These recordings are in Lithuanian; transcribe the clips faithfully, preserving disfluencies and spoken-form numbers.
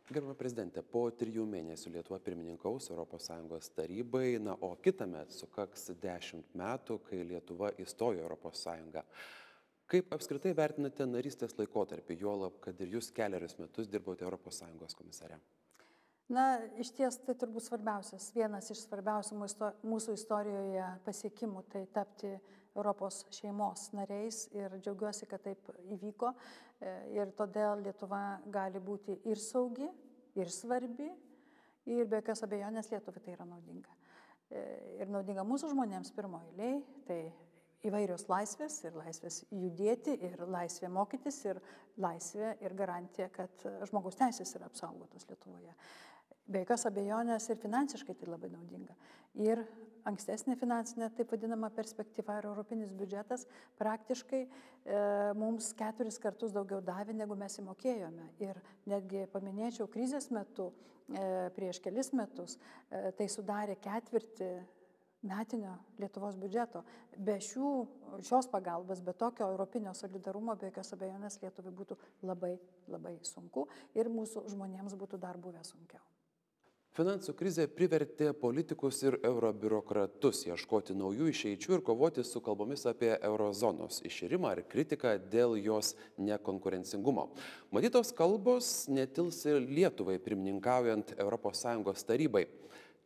Gerbiama prezidentė, po trijų mėnesių Lietuva pirmininkaus Europos Sąjungos tarybai, na, o kitąmet sukaks dešimt metų, kai Lietuva įstojo į Europos Sąjungą. Kaip apskritai vertinate narystės laikotarpį, juolab, kad ir jūs keliarius metus dirbote Europos Sąjungos komisare? Na, iš ties tai turbūt svarbiausias, vienas iš svarbiausių mūsų istorijoje pasiekimų, tai tapti Europos šeimos nariais ir džiaugiuosi, kad taip įvyko. Ir todėl Lietuva gali būti ir saugi, ir svarbi, ir be jokios abejonės Lietuvai tai yra naudinga. Ir naudinga mūsų žmonėms pirmoji eilėj, tai įvairios laisvės, ir laisvės judėti, ir laisvė mokytis, ir laisvė ir garantija, kad žmogaus teisės yra apsaugotos Lietuvoje. Be jokios abejonės ir finansiškai tai labai naudinga. Ir ankstesnė finansinė, taip vadinama, perspektyva ir europinis biudžetas praktiškai e, mums keturis kartus daugiau davė, negu mes įmokėjome. Ir netgi paminėčiau krizės metu, e, prieš kelis metus, e, tai sudarė ketvirtį metinio Lietuvos biudžeto. Be šių, šios pagalbos, be tokio europinio solidarumo, be jokios abejonės Lietuvai būtų labai, labai sunku ir mūsų žmonėms būtų dar buvę sunkiau. Finansų krizė privertė politikus ir eurobiurokratus ieškoti naujų išeičių ir kovoti su kalbomis apie eurozonos iširimą ar kritiką dėl jos nekonkurencingumo. Matytos kalbos netils ir Lietuvai pirmininkaujant Europos Sąjungos tarybai.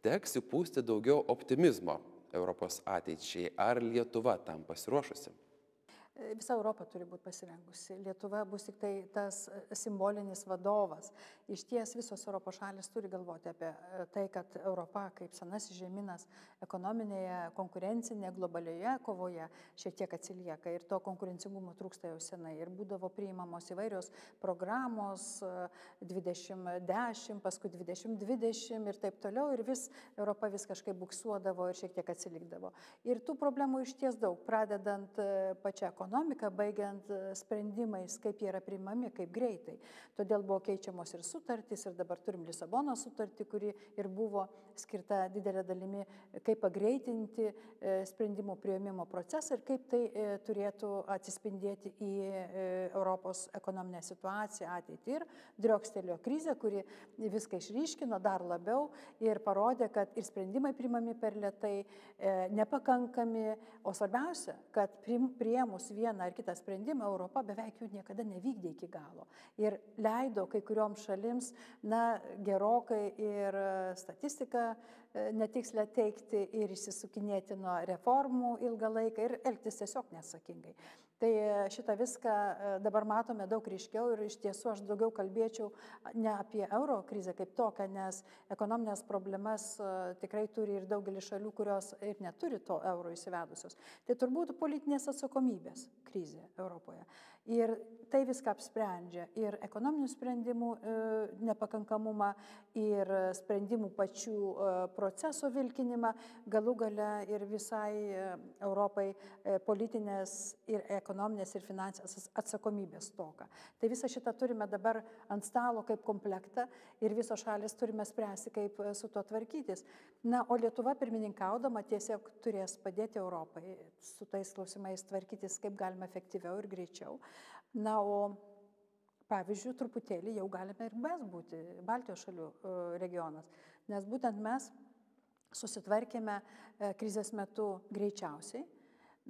Teks įpūsti daugiau optimizmo Europos ateičiai. Ar Lietuva tam pasiruošusi? Visa Europa turi būti pasirengusi. Lietuva bus tik tai tas simbolinis vadovas. Iš ties visos Europos šalis turi galvoti apie tai, kad Europa kaip senasis žemynas ekonominėje, konkurencinėje, globalioje kovoje šiek tiek atsilieka ir to konkurencingumo trūksta jau senai. Ir būdavo priimamos įvairios programos dvidešimt dešimt, paskui dvidešimt dvidešimt ir taip toliau. Ir vis Europa vis kažkaip buksuodavo ir šiek tiek atsilikdavo. Ir tų problemų iš ties daug, pradedant pačią ekonomiką, baigiant sprendimais, kaip jie yra priimami, kaip greitai. Todėl buvo keičiamos ir sutartys, ir dabar turim Lisabono sutartį, kuri ir buvo skirta didelė dalimi, kaip pagreitinti sprendimų priėmimo procesą ir kaip tai turėtų atsispindėti į Europos ekonominę situaciją ateitį. Ir driokstelio krizė, kuri viską išryškino dar labiau ir parodė, kad ir sprendimai priimami per lėtai, nepakankami, o svarbiausia, kad priėmus vieną ar kitą sprendimą, Europa beveik jų niekada nevykdė iki galo. Ir leido kai kurioms šalims, na, gerokai ir statistiką netikslę teikti ir išsisukinėti nuo reformų ilgą laiką ir elgtis tiesiog neatsakingai. Tai šitą viską dabar matome daug ryškiau ir iš tiesų aš daugiau kalbėčiau ne apie euro krizę kaip tokią, nes ekonominės problemas tikrai turi ir daugelis šalių, kurios ir neturi to euro įsivedusios. Tai turbūt politinės atsakomybės krizė Europoje. Ir tai viską apsprendžia ir ekonominių sprendimų e, nepakankamumą, ir sprendimų pačių e, proceso vilkinimą, galų gale ir visai e, Europai e, politinės ir ekonominės ir finansinės atsakomybės stoką. Tai visą šitą turime dabar ant stalo kaip komplektą ir visos šalis turime spręsti, kaip su tuo tvarkytis. Na, o Lietuva pirmininkaudama tiesiog turės padėti Europai su tais klausimais tvarkytis, kaip galima efektyviau ir greičiau. Na, o pavyzdžiui, truputėlį jau galime ir mes būti Baltijos šalių regionas, nes būtent mes susitvarkėme krizės metu greičiausiai,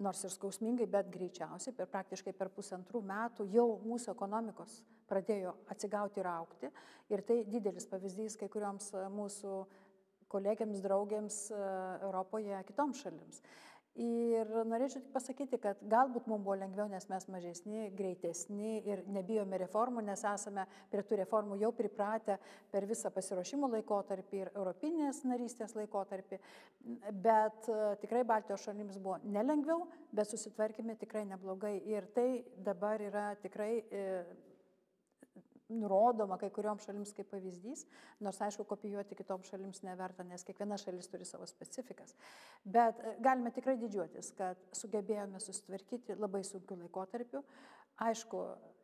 nors ir skausmingai, bet greičiausiai, per praktiškai per pusantrų metų jau mūsų ekonomikos pradėjo atsigauti ir augti. Ir tai didelis pavyzdys kai kurioms mūsų kolegiams, draugėms Europoje, kitoms šalims. Ir norėčiau tik pasakyti, kad galbūt mums buvo lengviau, nes mes mažesni, greitesni ir nebijome reformų, nes esame prie tų reformų jau pripratę per visą pasiruošimo laikotarpį ir europinės narystės laikotarpį. Bet tikrai Baltijos šalims buvo nelengviau, bet susitvarkėme tikrai neblogai. Ir tai dabar yra tikrai nurodoma kai kurioms šalims kaip pavyzdys, nors aišku, kopijuoti kitoms šalims neverta, nes kiekviena šalis turi savo specifikas. Bet galime tikrai didžiuotis, kad sugebėjome susitvarkyti labai sunkiu laikotarpiu, aišku,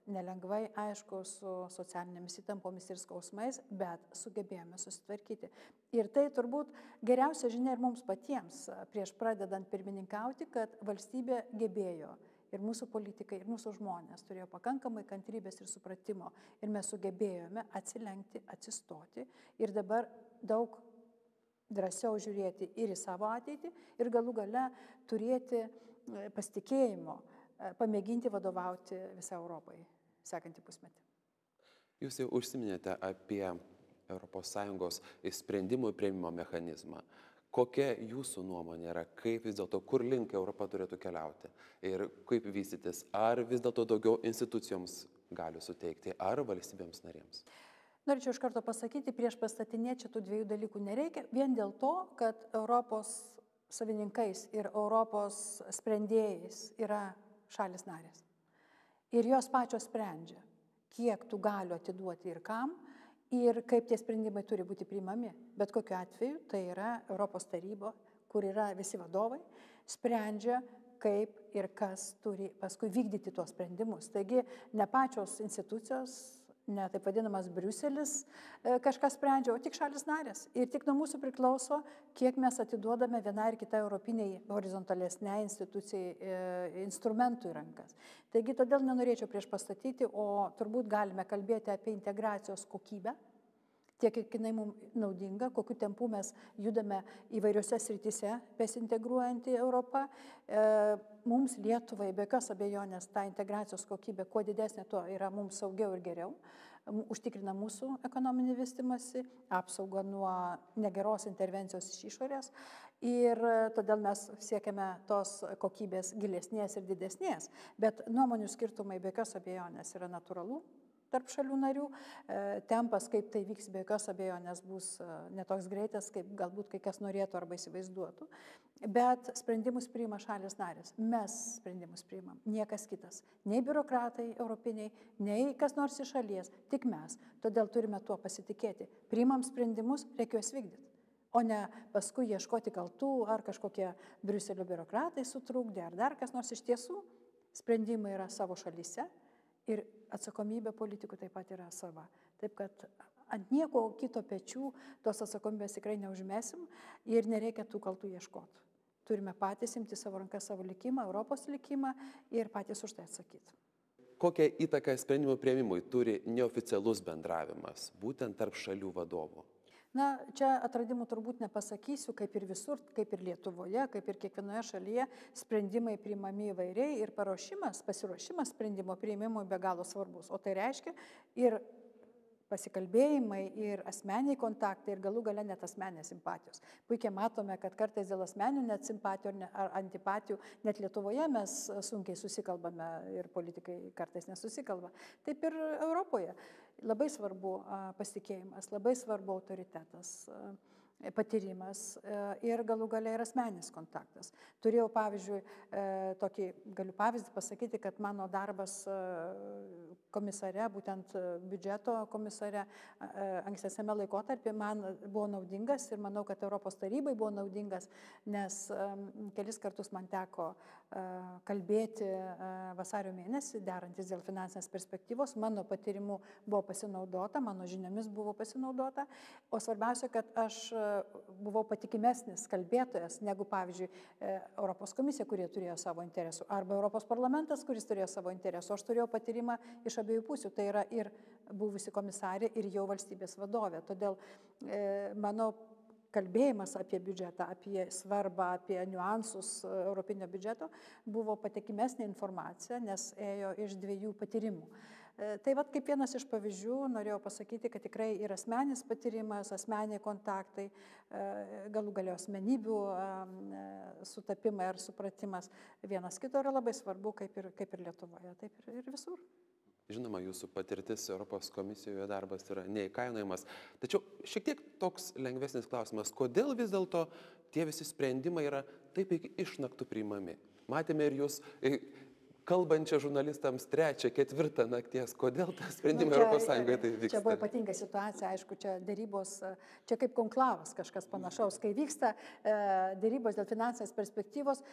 nelengvai, aišku, su socialinėmis įtampomis ir skausmais, bet sugebėjome susitvarkyti. Ir tai turbūt geriausia žinia ir mums patiems, prieš pradedant pirmininkauti, kad valstybė gebėjo Ir mūsų politikai, ir mūsų žmonės turėjo pakankamai kantrybės ir supratimo. Ir mes sugebėjome atsilenkti, atsistoti ir dabar daug drąsiau žiūrėti ir į savo ateitį, ir galų gale turėti pasitikėjimo, pamėginti vadovauti visą Europai sekantį pusmetį. Jūs jau užsiminėte apie Europos Sąjungos sprendimų priėmimo mechanizmą. Kokia jūsų nuomonė yra, kaip vis dėlto, kur link Europa turėtų keliauti ir kaip vystytis, ar vis dėlto daugiau institucijoms gali suteikti, ar valstybėms narėms? Norėčiau iš karto pasakyti, prieš pastatinėti šitų dviejų dalykų nereikia, vien dėl to, kad Europos savininkais ir Europos sprendėjais yra šalis narės. Ir jos pačios sprendžia, kiek tų galių atiduoti ir kam, ir kaip tie sprendimai turi būti priimami. Bet kokiu atveju tai yra Europos taryba, kur yra visi vadovai, sprendžia, kaip ir kas turi paskui vykdyti tuos sprendimus. Taigi ne pačios institucijos, ne taip vadinamas Briuselis kažkas sprendžia, o tik šalis narės. Ir tik nuo mūsų priklauso, kiek mes atiduodame vienai ir kitai europiniai horizontalesnei institucijai instrumentų į rankas. Taigi todėl nenorėčiau prieš pastatyti, o turbūt galime kalbėti apie integracijos kokybę, tiek kiek jinai mums naudinga, kokiu tempu mes judame įvairiose srityse, besintegruojant į Europą. Mums Lietuvai, be jokios abejonės, ta integracijos kokybė, kuo didesnė, tuo yra mums saugiau ir geriau, užtikrina mūsų ekonominį vystymąsi, apsaugą nuo negeros intervencijos iš išorės ir todėl mes siekiame tos kokybės gilesnės ir didesnės, bet nuomonių skirtumai be jokios abejonės yra natūralu tarp šalių narių. Tempas, kaip tai vyks, be jokios abejonės bus netoks greitas, kaip galbūt kai kas norėtų arba įsivaizduotų. Bet sprendimus priima šalis narės. Mes sprendimus priimam, niekas kitas. Nei biurokratai europiniai, nei kas nors iš šalies, tik mes. Todėl turime tuo pasitikėti. Priimam sprendimus, reikia juos vykdyti. O ne paskui ieškoti kaltų, ar kažkokie Briuselio biurokratai sutrukdė, ar dar kas nors. Iš tiesų, sprendimai yra savo šalyse. Ir atsakomybė politikų taip pat yra sava. Taip kad ant nieko kito pečių tos atsakomybės tikrai neužmesim ir nereikia tų kaltų ieškoti. Turime patys imti savo ranką, savo likimą, Europos likimą ir patys už tai atsakyti. Kokią įtaką sprendimų priėmimui turi neoficialus bendravimas, būtent tarp šalių vadovų? Na, čia atradimų turbūt nepasakysiu, kaip ir visur, kaip ir Lietuvoje, kaip ir kiekvienoje šalyje sprendimai priimami įvairiai ir paruošimas, pasiruošimas sprendimo priimimui be galo svarbus. O tai reiškia ir pasikalbėjimai, ir asmeniai kontaktai, ir galų gale net asmenės simpatijos. Puikiai matome, kad kartais dėl asmenių net simpatijų ar antipatijų, net Lietuvoje mes sunkiai susikalbame ir politikai kartais nesusikalba. Taip ir Europoje. Labai svarbu pasitikėjimas, labai svarbu autoritetas, patyrimas ir galų gale ir asmeninis kontaktas. Turėjau, pavyzdžiui, tokį, galiu pavyzdį pasakyti, kad mano darbas komisare, būtent biudžeto komisare, ankstesniame laikotarpyje man buvo naudingas ir manau, kad Europos tarybai buvo naudingas, nes kelis kartus man teko kalbėti vasario mėnesį, derantis dėl finansinės perspektyvos. Mano patyrimu buvo pasinaudota, mano žiniomis buvo pasinaudota, o svarbiausia, kad aš buvau patikimesnis kalbėtojas negu, pavyzdžiui, Europos komisija, kurie turėjo savo interesų, arba Europos parlamentas, kuris turėjo savo interesų. Aš turėjau patyrimą iš abiejų pusių, tai yra ir buvusi komisarė, ir jau valstybės vadovė. Todėl e, mano kalbėjimas apie biudžetą, apie svarbą, apie niuansus europinio biudžeto buvo patikimesnė informacija, nes ėjo iš dviejų patyrimų. Tai vat kaip vienas iš pavyzdžių norėjau pasakyti, kad tikrai ir asmeninis patyrimas, asmeniai kontaktai, galų galio asmenybių sutapimai ar supratimas vienas kito yra labai svarbu, kaip ir, kaip ir Lietuvoje, taip ir, ir visur. Žinoma, jūsų patirtis Europos komisijoje darbas yra neįkainojamas. Tačiau šiek tiek toks lengvesnis klausimas, kodėl vis dėlto tie visi sprendimai yra taip iki išnaktų priimami? Matėme ir jūs kalbančią žurnalistams trečią, ketvirtą nakties. Kodėl tas sprendimas nu, Europos Sąjungoje tai vyksta? Čia buvo ypatinga situacija, aišku, čia dėrybos, čia kaip konklavas kažkas panašaus. Kai vyksta e, dėrybos dėl finansinės perspektyvos,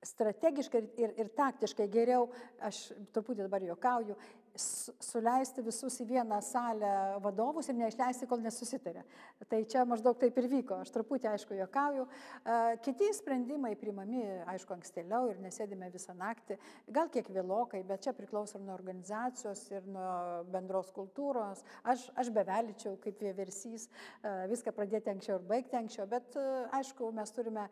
strategiškai ir, ir, ir taktiškai geriau, aš truputį dabar juokauju, suleisti visus į vieną salę vadovus ir neišleisti, kol nesusitarė. Tai čia maždaug taip ir vyko. Aš truputį, aišku, juokauju. Kiti sprendimai priimami, aišku, ankstėliau ir nesėdime visą naktį. Gal kiek vėlokai, bet čia priklauso ir nuo organizacijos, ir nuo bendros kultūros. Aš, aš bevelyčiau kaip vieversys viską pradėti anksčiau ir baigti anksčiau, bet aišku, mes turime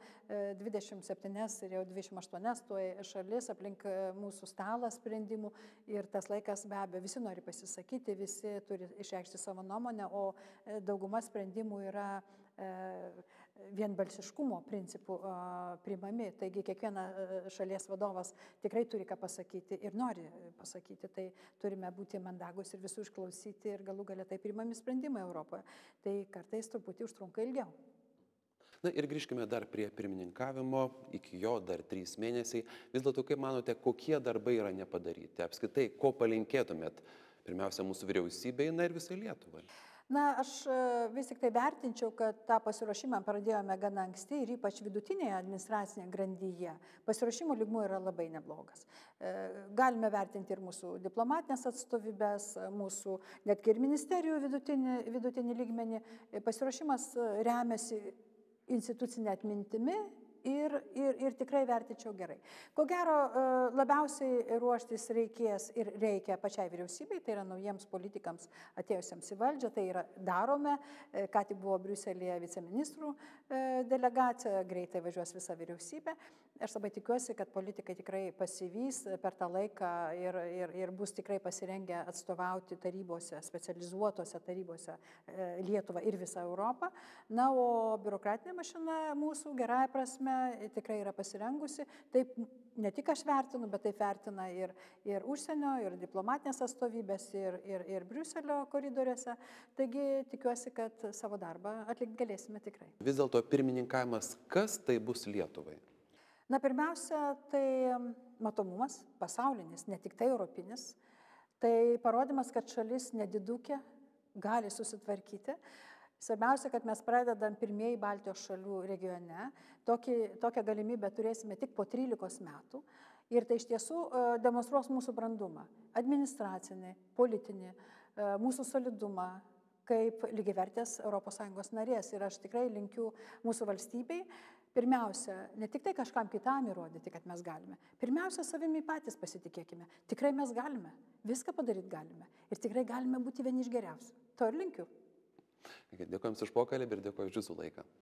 dvidešimt septynias ir jau dvidešimt aštuonias tuoj šalis aplink mūsų stalą sprendimų ir tas laikas be abejo, visi nori pasisakyti, visi turi išreikšti savo nuomonę, o dauguma sprendimų yra vienbalsiškumo principų priimami. Taigi kiekviena šalies vadovas tikrai turi ką pasakyti ir nori pasakyti. Tai turime būti mandagus ir visų išklausyti ir galų galia tai priimami sprendimai Europoje. Tai kartais truputį užtrunka ilgiau. Na ir grįžkime dar prie pirmininkavimo, iki jo dar trys mėnesiai. Vis dėlto, kaip manote, kokie darbai yra nepadaryti? Apskritai, ko palinkėtumėt pirmiausia mūsų vyriausybei, na ir visai Lietuvai? Na, aš vis tik tai vertinčiau, kad tą pasiruošimą pradėjome gana anksti ir ypač vidutinėje administracinėje grandyje. Pasiruošimo lygmuo yra labai neblogas. Galime vertinti ir mūsų diplomatinės atstovybės, mūsų netgi ir ministerijų vidutinį, vidutinį lygmenį. Pasiruošimas remiasi institucinė atmintimi ir, ir, ir tikrai vertinčiau gerai. Ko gero, labiausiai ruoštis reikės ir reikia pačiai vyriausybei, tai yra naujiems politikams atėjusiems į valdžią, tai yra darome, ką tik buvo Briuselėje viceministrų delegacija, greitai važiuos visa vyriausybė. Aš labai tikiuosi, kad politikai tikrai pasivys per tą laiką ir, ir, ir bus tikrai pasirengę atstovauti tarybose, specializuotose tarybose Lietuvą ir visą Europą. Na, o biurokratinė mašina mūsų gerąja prasme tikrai yra pasirengusi. Taip ne tik aš vertinu, bet taip vertina ir, ir užsienio, ir diplomatinės atstovybės, ir, ir, ir Briuselio koridoriuose. Taigi tikiuosi, kad savo darbą atlikti galėsime tikrai. Vis dėlto pirmininkavimas, kas tai bus Lietuvai? Na, pirmiausia, tai matomumas, pasaulinis, ne tik tai europinis. Tai parodymas, kad šalis nedidukė, gali susitvarkyti. Svarbiausia, kad mes pradedam pirmieji Baltijos šalių regione. Tokį, tokią galimybę turėsime tik po trylikos metų. Ir tai iš tiesų demonstruos mūsų brandumą. Administracinį, politinį, mūsų solidumą kaip lygiavertės Europos Sąjungos narės. Ir aš tikrai linkiu mūsų valstybei, pirmiausia, ne tik tai kažkam kitam įrodyti, kad mes galime. Pirmiausia, savimi patys pasitikėkime. Tikrai mes galime. Viską padaryti galime. Ir tikrai galime būti vieni iš geriausių. To ir linkiu. Dėkojom už pokalbį ir dėkoju už jūsų laiką.